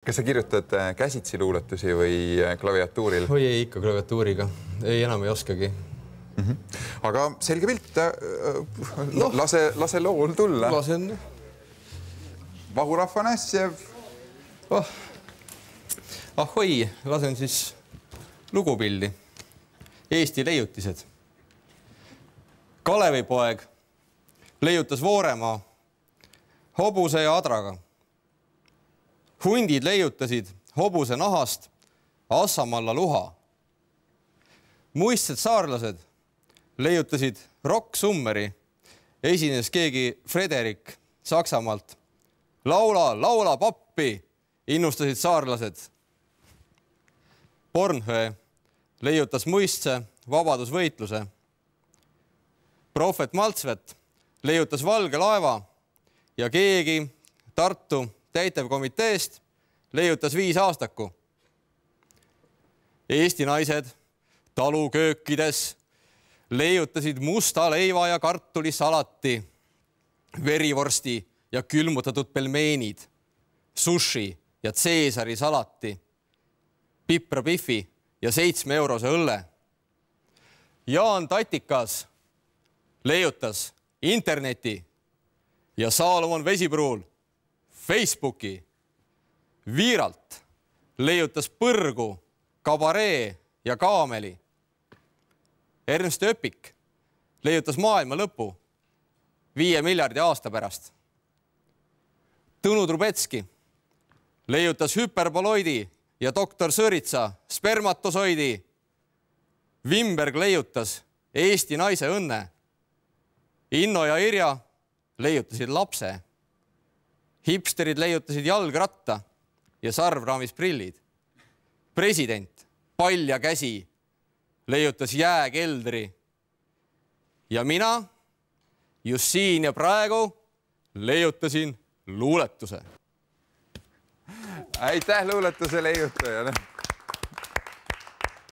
Kas sa kirjutad käsitsi luuletusi või klaviatuuril? Või ei, ikka klaviatuuriga. Ei, enam ei oskagi. Aga selge pilt. Lase lool tulla. Lasen. Vahurahva Näsjev. Ahoi, lasen siis lugupildi. Eesti leiutised. Kalevipoeg leiutas Vooremaa hobuse ja adraga. Hundid leiutasid hobuse nahast Assamalla luha. Muistsed saarlased leiutasid Rock Summeri. Esines keegi Frederik Saksamaalt. Laula pappi, innustasid saarlased. Bornhöö leiutas muistse vabadusvõitluse. Prohvet Maltsvet leiutas valge laeva ja keegi Tartu täitevkomiteest leiutas 5 aastaku. Eesti naised taluköökides leiutasid musta leiva ja kartulisalati, verivorsti ja külmutatud pelmeenid, sushi ja Caesari salati, piprapifi ja 7-eurose õlle. Jaan Tatikas leiutas interneti ja Saalomon Vesipruul Facebooki. Viiralt leiutas põrgu, kabaree ja kaameli. Ernst Öpik leiutas maailma lõpu 5 miljardi aasta pärast. Tõnu Trubetski leiutas hüperboloidi ja doktor Sõritsa spermatosoidi. Wimberg leiutas Eesti naise õnne. Inno ja Irja leiutasid lapse. Hipsterid leiutasid jalgratta ja sarvraamis prillid. President, pall ja käsi leiutas jääkeldri. Ja mina just siin ja praegu leiutasin luuletuse. Aitäh luuletuse leiutajale!